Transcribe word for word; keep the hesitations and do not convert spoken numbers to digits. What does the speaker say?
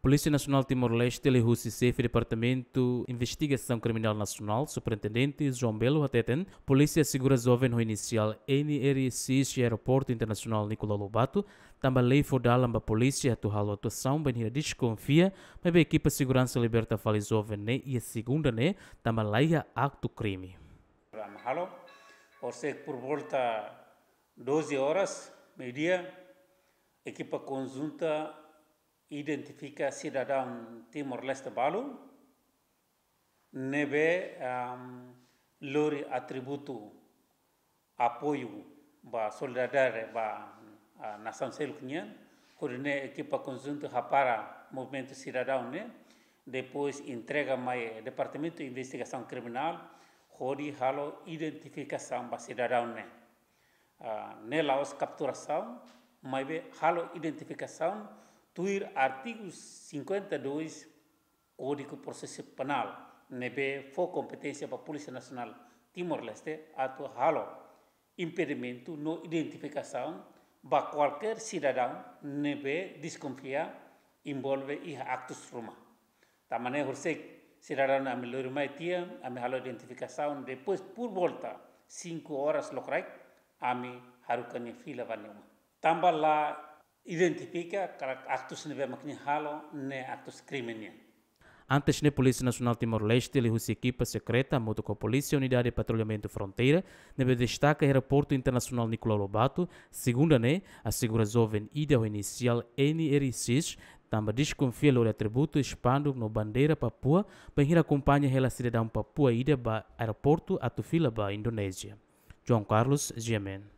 Polísia Nasionál Timor-Leste liuhusi Xefe Departamentu Investigasaun Kriminál Nasionál, Superintendente João Belo hateten, polísia asegura joven ho inisiál N R X iha Aeroportu Internasionál Nicolau Lobato, tanba lei fó dalan ba polísia atu halo atuasaun bainhira deskonfia maibé ekipa seguransa liberta fali joven ne'e iha segunda ne'e, tanba laiha aktu krime. Programa halo, horisehik por volta doze horas, meio-dia, ekipa konjunta identifika sidadaun Timor-Leste balu, ne'ebé, am, lori atributu apoiu ba solidariedade ba, ah, nasaun seluk nian, hodi nune'e ekipa konjunta hapara movimentu sidadaun ne'e, depois entrega mai Departamentu Investigasaun Kriminál, hodi halo identifikasaun ba sidadaun ne'e. Ah, ne'e la'ós kapturasaun, maibé halo identifikasaun tuir artigu cinquenta e dois Kódigu Prosesu Penál, ne'ebé fó kompeténsia ba Polísia Nasionál Timor-Leste atu halo impedimentu no identifikasaun ba kualkér sidadaun ne'ebé deskonfia envolve iha aktus ruma. Tanba ne'e horisehik sidadaun ami lori mai tiha, ami halo identifikasaun, depois por volta cinco horas lokraik, ami haruka nia fila ba nia uma. Tanba la identifika katak aktus ne'ebé mak nia halo ne'e aktus krime nian. Antes ne'e Polísia Nasionál Timor-Leste liuhusi ekipa sekreta hamutuk ho Polísia Unidade Patrullamentu Fronteira ne'ebé destaka iha Aeroportu Internasionál Nicolau Lobato, segunda ne'e, asegura joven ida ho inisiál N R X, tanba deskonfia lori atributu, espanduk no bandeira Papua, bainhira akompaña hela sidadaun Papua ida ba aeroportu atu fila ba Indonézia. João Carlos, G M N.